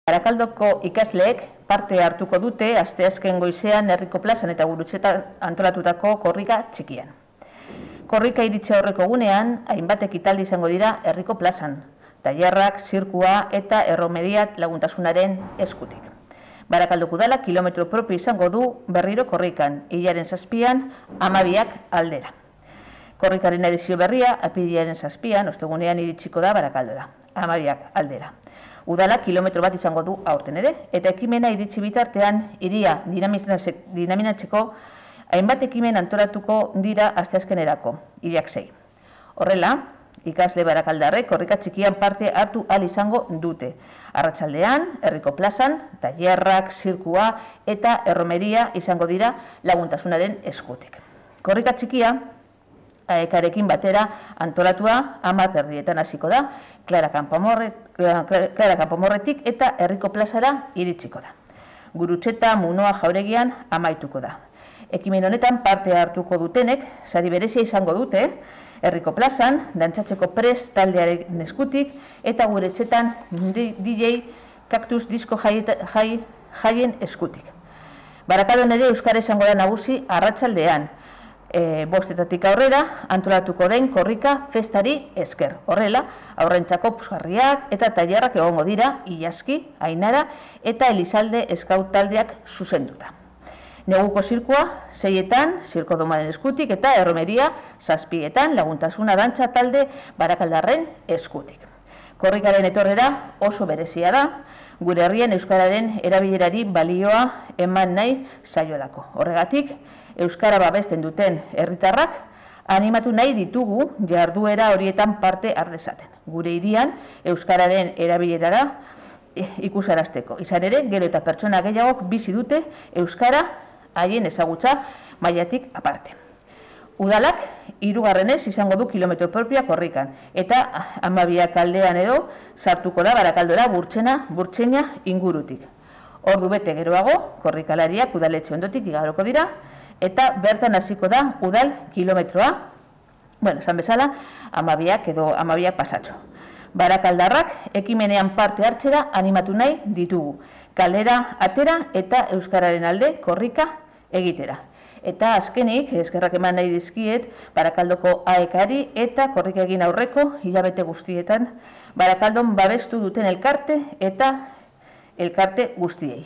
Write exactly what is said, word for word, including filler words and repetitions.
Barakaldoko ikasleek parte hartuko dute asteazken goizean herriko plazan eta Gurutzetan antolatutako korrika txikian. Korrika iritsi aurreko egunean, hainbat ekitaldi izango dira herriko plazan, tailerrak, zirkua eta erromeria laguntasunaren eskutik. Barakaldoko udalak kilometro propio izango du berriro korrikan, hilaren zazpian, hamabiak aldera. Korrikaren edizio berria, apirilaren zazpian, ostegunean iritsiko da Barakaldora, hamabiak aldera. Udalak kilometro bat izango du aurten ere, eta ekimena iritsi bitartean hiria dinaminatzeko hainbat ekimen antolatuko dira asteazkenerako, hiriak sei. Horrela, ikasle barakaldarrek korrika txikian parte hartu ahal izango dute. Arratsaldean, herriko plazan, tailerrak, zirkua eta erromeria izango dira laguntasunaren eskutik. Korrika txikia, aekarekin batera antolatua hamar erdietan hasiko da, Clara Kanpomorretik eta herriko plazara iritsiko da. Gurutzeta Munoa Jauregian amaituko da. Ekimen honetan parte hartuko dutenek, sari berezia izango dute, herriko plazan, dantzatzeko prest taldearen eskutik, eta Gurutzetan D J Kaktus disko jaien eskutik. Barakaldon ere euskara izango da nagusi arratsaldean, E, bostetatik aurrera antolatuko den korrika festari esker. Horrela, aurrentzako puzgarriak eta tailerrak egongo dira, Ilaski, Ainara eta Elizalde eskaut taldeak zuzenduta. Neguko zirkua, seietan, zirko domaren eskutik eta erromeria, zazpietan, laguntasuna dantza talde barakaldarren eskutik. Korrikaren etorrera oso berezia da, gure herrian euskararen erabilerari balioa eman nahi zaiolako. Horregatik, euskara babesten duten herritarrak animatu nahi ditugu jarduera horietan parte har dezaten. Gure hirian euskararen erabilerara ikusarazteko. Izan ere, gero eta pertsona gehiagok bizi dute euskara haien ezagutza mailatik aparte. Udalak hirugarrenez izango du kilometro propioa korrikan, eta hamabiak aldean edo sartuko da Barakaldora burtsena, burtseina ingurutik. Ordu bete geroago, korrikalariak udaletxe ondotik igaroko dira, eta bertan hasiko da udal kilometroa, bueno, esan bezala, hamabiak edo hamabiak pasatxo. Barakaldarrak ekimenean parte hartzera animatu nahi ditugu, kalera atera eta euskararen alde korrika egitera. Eta azkenik, eskerrak eman nahi dizkiet, Barakaldoko aekari eta korrika egin aurreko hilabete guztietan Barakaldon babestu duten elkarte eta elkarte guztiei.